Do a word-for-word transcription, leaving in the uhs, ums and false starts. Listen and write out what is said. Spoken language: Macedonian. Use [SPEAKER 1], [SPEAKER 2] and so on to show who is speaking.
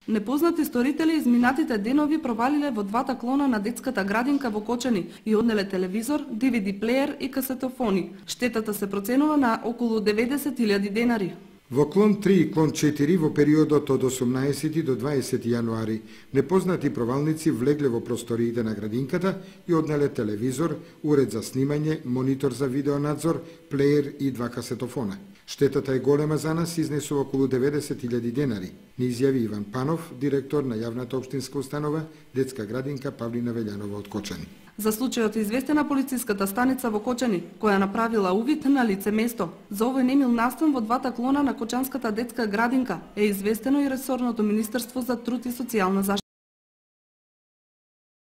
[SPEAKER 1] Непознати сторители изминатите денови провалиле во двата клона на детската градинка во Кочани и однеле телевизор, ди ви ди плеер и касетофони. Штетата се проценува на околу деветдесет илјади денари.
[SPEAKER 2] Во клон три и клон четири во периодот од осумнаесети до дваесети јануари непознати провалници влегле во просториите на градинката и однеле телевизор, уред за снимање, монитор за видеонадзор, плеер и два касетофона. Штетата е голема за нас, изнесува околу деветдесет илјади денари, ни изјави Иван Панов, директор на јавната општинска установа Детска градинка Павлина Велјанова од Кочани.
[SPEAKER 1] За случајот е известена полициската станица во Кочани, која направила увид на лице место. За овој немил настан во двата клона на Кочанската детска градинка е известено и ресорното Министерство за труд и социјална заштита.